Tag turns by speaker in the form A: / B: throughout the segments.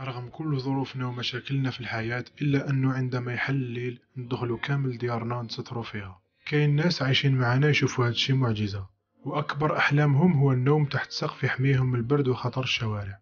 A: رغم كل ظروفنا ومشاكلنا في الحياة إلا أنه عندما يحل الليل ندخلوا كامل ديارنا نستروا فيها. كاين ناس عايشين معنا يشوفوا هادشي معجزة، وأكبر أحلامهم هو النوم تحت سقف يحميهم من البرد وخطر الشوارع.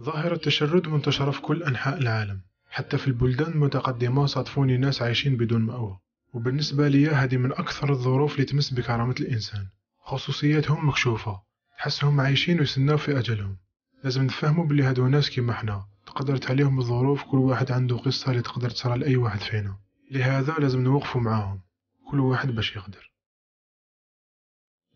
A: ظاهرة التشرد منتشرة في كل أنحاء العالم، حتى في البلدان المتقدمة صادفوني ناس عايشين بدون مأوى، وبالنسبة لي هذه من أكثر الظروف اللي تمس بكرامة الإنسان. خصوصياتهم مكشوفة، تحسهم عايشين ويستناو في أجلهم. لازم نفهموا بلي هادو ناس كيما حنا، تقدرت عليهم الظروف، كل واحد عنده قصة اللي تقدر تصرى لأي واحد فينا، لهذا لازم نوقفوا معاهم كل واحد باش يقدر.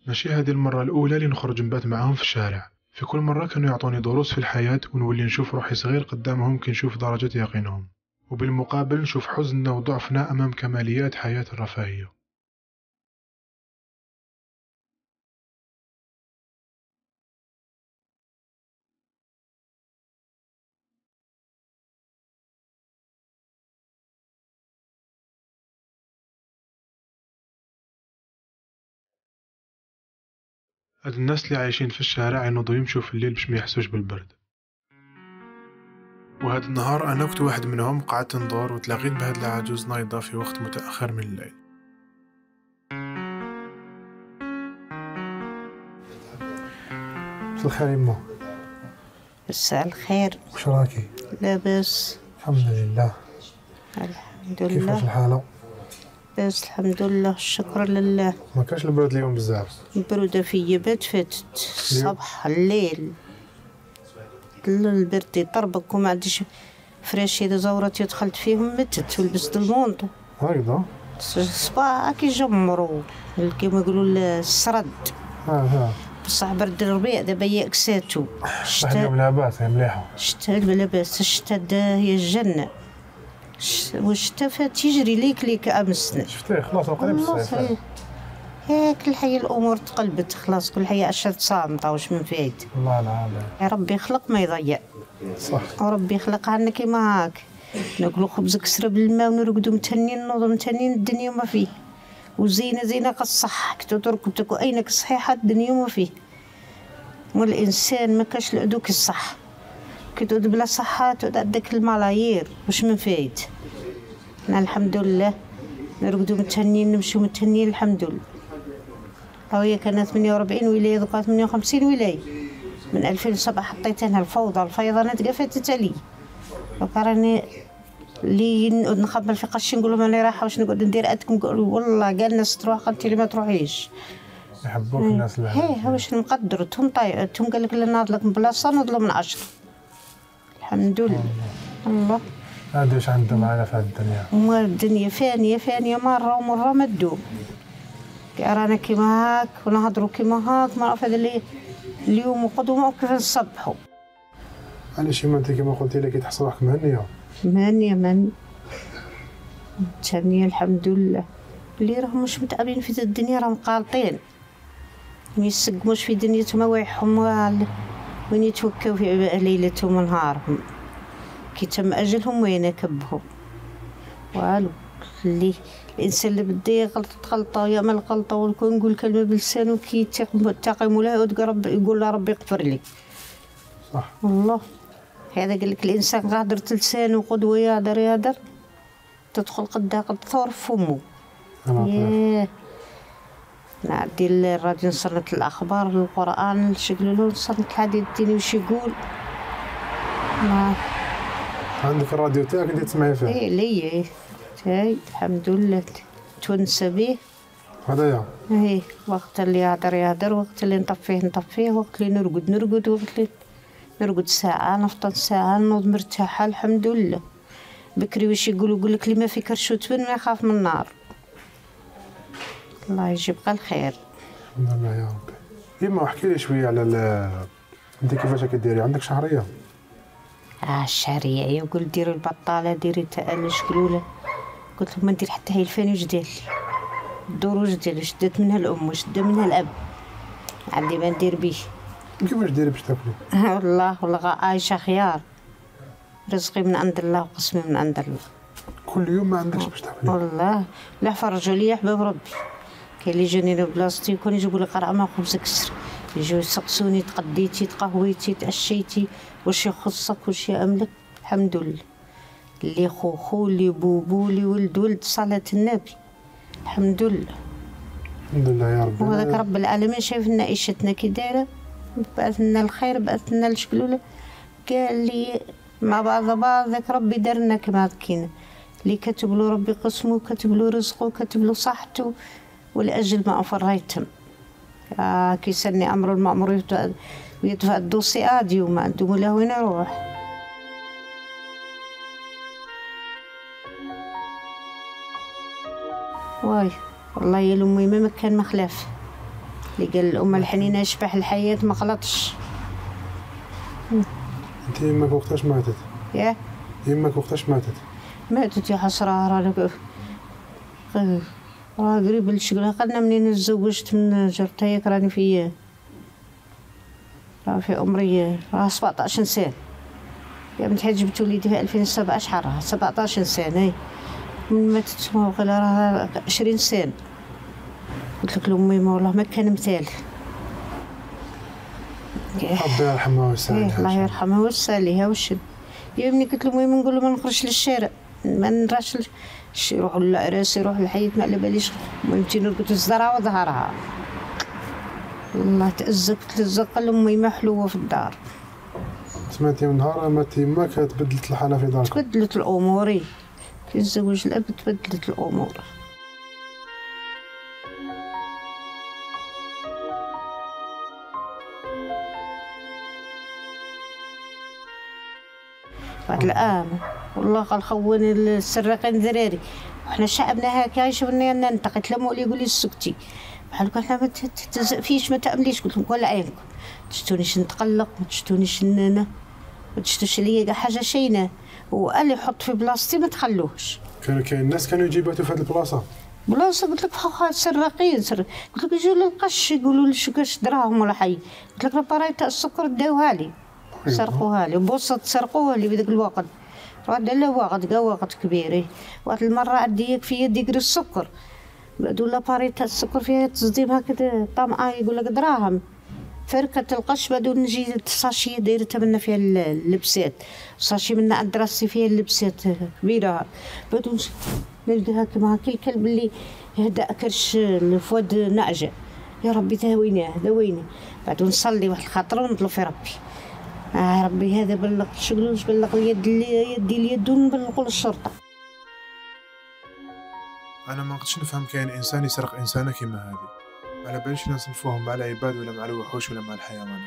A: ماشي هذه المرة الأولى اللي نخرج نبات معاهم في الشارع، في كل مرة كانوا يعطوني دروس في الحياة، ونولي نشوف روحي صغير قدامهم كي نشوف درجة يقينهم، وبالمقابل نشوف حزننا وضعفنا أمام كماليات حياة الرفاهية. هاد الناس اللي عايشين في الشارع ينوضوا يمشوا في الليل باش ما يحسوش بالبرد. وهاد النهار أنا كنت واحد منهم، قعدت ندور وتلاقيت بهاد العجوز نايضة في وقت متأخر من الليل. مساء الخير يما.
B: مساء الخير.
A: واش راكي؟
B: لاباس
A: الحمد لله.
B: الحمد لله.
A: كيفاش الحالة؟
B: لاباس الحمد لله، الشكر لله.
A: ما كانش البرد اليوم بزاف؟
B: البرودة فيا بات فاتت الصباح الليل، البرد يطربك وما عنديش فراشي إذا زورتي دخلت فيهم متت ولبست المونطو
A: هكذا
B: الصباح كيجمروا كيما يقولوا السرد. بصح برد الربيع دابا يأكساتو.
A: الشتاء اليوم لاباس، هي مليحة.
B: الشتاء لاباس، الشتاء هي الجنة، والشتاء فات يجري ليك أمسنا.
A: شفتيه خلاص قريب الصيف.
B: هاك الحياة الأمور تقلبت خلاص، كل حياة عشرة صامتة واش من فايد.
A: الله العظيم.
B: يا ربي يخلق ما يضيع.
A: صح.
B: وربي يخلق عنا كيما هاك، ناكلو خبز كسرة بالماء ونرقدو متهنين، نوضو متهنين، الدنيا ما فيه. وزينة قصح كتو تركبتك وأينك صحيحة الدنيا ما فيه. والإنسان ما كاش لعدوك الصح، كي تعود بلا صحة تعود عندك الملايير واش من فايد. الحمد لله نرقدو متهنين، نمشيو متهنين الحمد لله. هي كانت 48 ولاية، دوكا 58 ولاية. من 2007 حطيت انا الفوضى الفيضانات كاع فاتت عليا. دوكا راني اللي نقعد نخبل في قش نقول لهم راني رايحه واش نقعد ندير عندكم، يقولوا والله كاع الناس تروح، قلت لي ما تروحيش.
A: يحبوك الناس اللي
B: هي واش نقدرتهم طيعتهم، قال لك لا ناض لك من بلاصه نضلوا من 10. الحمد لله. الله
A: هادي واش عندهم معنا في هاد الدنيا.
B: وما الدنيا فانيه فانيه، مره ومره ما تدوم. كاع رانا كيما هاك ونهضروا كيما هاك، ما عرف هذا اللي اليوم وقدوم كيف نصبحوا.
A: علاش ما انت كيما قلتي لي كتحس روحك مهنيه؟
B: مهنيه متهنيه الحمد لله. اللي راهم مش متعبين في الدنيا راهم قالطين، ما يسقموش في دنيتهم وايحهم وين يتوكاو في ليلتهم ونهارهم، كي تم اجلهم وين كبهم والو. اللي الانسان اللي بده يغلط غلطه يعمل غلطه، ويكون يقول كلمه بلسانه كي يتقي مولاي يقول له ربي يغفر لي.
A: صح
B: والله. هذا قال لك الانسان غادر لسانه قدوه يهدر تدخل قدها ثور فمه. ياه نعدي الراديو نصنت الاخبار، القران نشغل له، نصنت الحديث الديني واش يقول. ما
A: عندك الراديو تاعك انت تسمعي فيه؟
B: ايه ليا هاي الحمد لله تونس به.
A: هذايا
B: ايه وقت اللي يهدر، وقت اللي نطفيه، وقت اللي نرقد، وقت اللي نرقد ساعة نفطر ساعة، نوض مرتاحة الحمد لله. بكري واش يقول لك اللي ما في كرشو تبن ما يخاف من النار. الله يجيب الخير.
A: الحمد لله يا ربي. يما احكي لي شويه على انت كيفاش كديري؟ عندك شهريه؟
B: الشهريه يقول ديري البطاله، ديري تاء شكلوله. قلت له ما ندير حتى هي الفاني واش دير لي الدور، واش دير لي شدات منها الام وشدا منها الاب، عندي ما ندير بيه.
A: كيفاش ديري باش تاكلي؟
B: والله عايشه خيار، رزقي من عند الله وقسمي من عند الله.
A: كل يوم ما عندكش باش تاكلي؟
B: والله لا فرجوا لي حباب ربي. كاين اللي جاني لبلاصتي يكون يجيبوا لي قرعه ما خبز كسر، يجوا يسقسوني تقديتي تقهويتي تعشيتي واش يخصك واش يأملك. الحمد لله، اللي خوخو اللي بوبو اللي ولد صلاة النبي. الحمد لله
A: الحمد لله يا ربي.
B: وهذاك رب العالمين شايف لنا عيشتنا كي دايره، بعث لنا الخير، بعث لنا الشكلوله، قال لي مع بعض ذاك ربي دار لنا كما كاين اللي كتب له ربي قسمه، كتب له رزقه، كتب له صحته، والاجل ما افريتهم. كيسني امر المامور ويدفع الدوسي عادي وما عنده ولا وين يروح. واي والله يا لامي ما كان مخلاف اللي قال الأمة الحنينة يشبح الحياة ما غلطش.
A: انت يماك وقتاش ماتت؟
B: ياه
A: يماك وقتاش ماتت؟
B: ماتت يا حسرة، راه قريب للشغل. قلنا منين تزوجت من جرتها ياك راني في عمري 17 سنة. يا بنت حاج جبت وليدي في 2017 راه 17 سنة. من ماتت راه 20 سنة. قلت لك لأمي ما والله ما كان مثال.
A: ربي يرحمها ويسعدها.
B: الله يرحمها ويساليها وشد. يا ابني قلت له المهم نقول له ما نخرجش للشارع، ما نراش يروحوا للعراس يروحوا للحيط ما على باليش. المهم نرقد الزرعه وظهرها. والله تأزق قال لأمي ما حلوه في الدار.
A: سمعتي من نهار مات يماك تبدلت الحالة في دارك؟
B: تبدلت الأمور كي تزوج الأب، تبدلت الأمور. بعد الآن والله قال خوني السراقين ذراري، وحنا شعبنا هكا يشوفني ننتقد. لما ولي يقول لي سكتي بحال هكا حنا ما تزقفيش ما تأمليش. قلت لهم ولا عينكم، ما تشتونيش نتقلق، ما تشتونيش ما تشتوش عليا كاع حاجه شينه، واللي يحط في بلاصتي ما تخلوهش.
A: كاين الناس كانوا يجيباتو في هذه البلاصه.
B: قلت لك فخا سراقين قلت لك يجيو للقش يقولوا لي كاش دراهم ولا حي. قلت لك البرايت تاع السكر داوها لي، سرقوها لي بوصه تسرقوها لي في ذاك الوقت. راد لا وقت كبير. واحد المره عندي في يدي كري السكر، بعدو لاباريت تاع السكر فيها تصديم هكذا طمعه يقول لك دراهم. فركت القش بعدو نجي الساشيه دايرتها منا فيها اللبسات، ساشي منا عند راسي فيها اللبسات كبيره. بعدو نلقاها كيما هاكا الكلب اللي هدا كرش الفواد نعجه. يا ربي داوينه. بعدو نصلي واحد الخاطر ونطلب في ربي. ربي هذا بلغ شغلوش، بلغ يدي اليد ونبلغوا للشرطه.
A: انا ما نقدرش نفهم كاين انسان يسرق انسانه كيما هذه. على باليش نصنفوهم مع العباد ولا مع الوحوش ولا مع الحيوانات.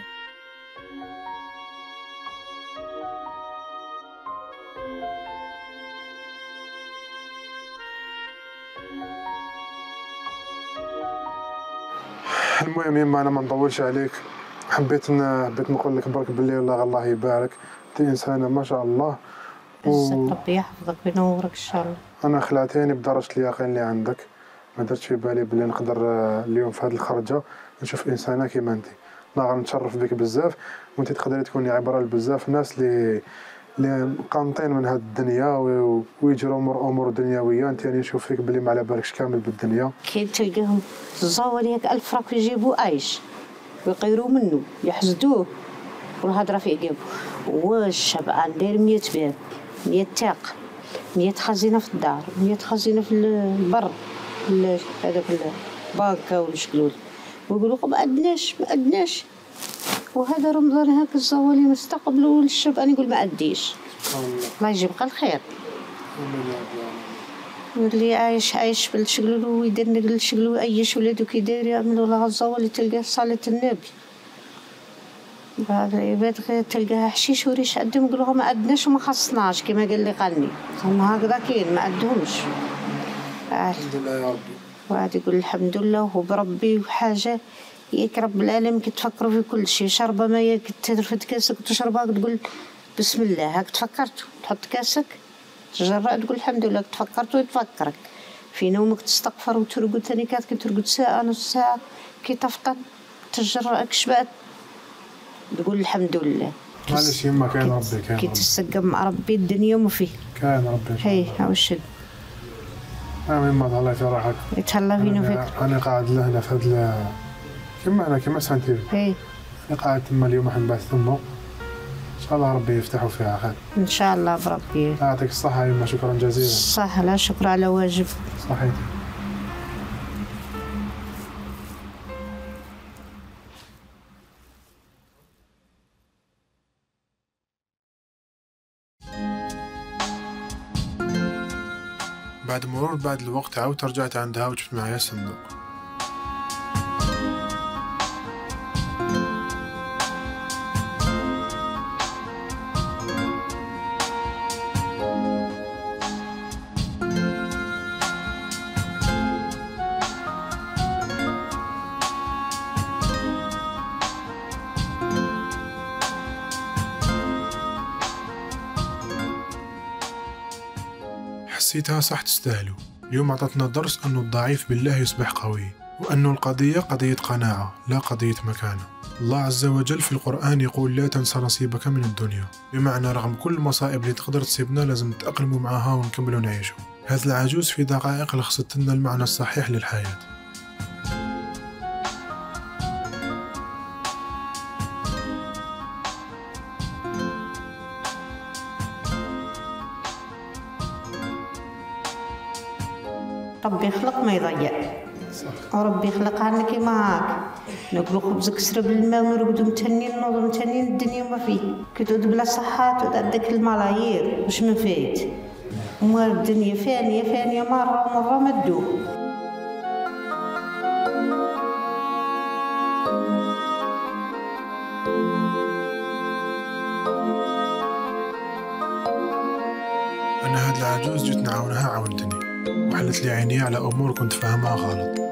A: المهم يما انا ما نطولش عليك، حبيت نقول لك برك باللي الله يبارك، انت انسانه ما شاء الله.
B: ربي يحفظك وينورك ان شاء الله.
A: انا خلعتيني بدرجه اليقين اللي عندك، ما درتش في بالي بلي نقدر اليوم في هذه الخرجه نشوف انسانه كيما انت. ناغ نتشرف بك بزاف، وانت تقدري تكوني عبره لبزاف ناس اللي قانطين من هذه الدنيا ويجروا امور دنيويه. انت يعني نشوف فيك بلي ما على بالكش كامل بالدنيا.
B: كي تلقاهم الزوالي هيك 1000 فرنك يجيبوا عايش ويقيروا منه يحسدوه والهضره في عقابه. والشبعان داير 100 باب، 100 تاق، 100 خزينه في الدار، 100 خزينه في البر، هذاك البنكه والشكلول. ويقولوا ما عندناش. وهذا رمضان هاك الزوالي مستقبلوا للشبعان يقول ما عنديش. الله يجيب الخير. اللي عايش بالشغل ويدير الشغل ويعيش ولادو كي داير يعملوا لها الزوالي تلقاه صلاة النبي. بعض العباد غير تلقاها حشيش وريش عندهم يقولوا ما عندناش وما خصناش كما قال لي قالني. هما هكذا كاين ما عندهمش.
A: الحمد لله يا ربي.
B: واحد يقول الحمد لله وهو بربي وحاجه ياك رب العالمين كتفكروا في كل شيء. شربه ما ياك ترفد كاسك وتشربها تقول بسم الله. هاك تفكرت تحط كاسك تجرأ تقول الحمد لله. تفكرت ويتفكرك في نومك تستغفر وترقد ثاني كي ترقد ساعه نص ساعه كي تفطن تجرأ كشبات تقول الحمد لله.
A: معليش يما كاين ربي كاين.
B: كي تسقم مع ربي الدنيا وما فيه
A: كاين ربي.
B: هي ها واش
A: يما الله يفرحك.
B: يتهلا فينا فيك.
A: انا قاعد لهنا في هذا كما سنتي.
B: اي
A: قاعد تما اليوم راح نبعث ثمه إن شاء الله ربي يفتحوا فيها خير.
B: إن شاء الله بربي.
A: يعطيك الصحة يا يما، شكرا جزيلا.
B: صح، لا شكر على واجب.
A: صحيح. بعد مرور بعض الوقت عاودت رجعت عندها وجبت معايا الصندوق. حسيتها صح تستاهلوا. اليوم عطتنا درس أنه الضعيف بالله يصبح قوي، وأنه القضية قضية قناعة لا قضية مكانة. الله عز وجل في القرآن يقول لا تنسى نصيبك من الدنيا، بمعنى رغم كل المصائب اللي تقدر تصيبنا لازم نتأقلموا معها ونكملوا نعيشوا. هذا العجوز في دقائق لخصت لنا المعنى الصحيح للحياة.
B: ربي يخلق ما يضيع، وربي يخلق عنا كيما هاك، ناكلو خبز كسرة بالماء ونرقدو متهنين نوضو متهنين الدنيا وما فيه. كي تعود بلا صحة تعود عندك الملايير واش من فايت، وما الدنيا فانية فانية مرة ومرة ما تدوم.
A: أنا هاد العجوز جيت نعاونها عاونتني، وحلت لي عيني على أمور كنت فاهمها غلط.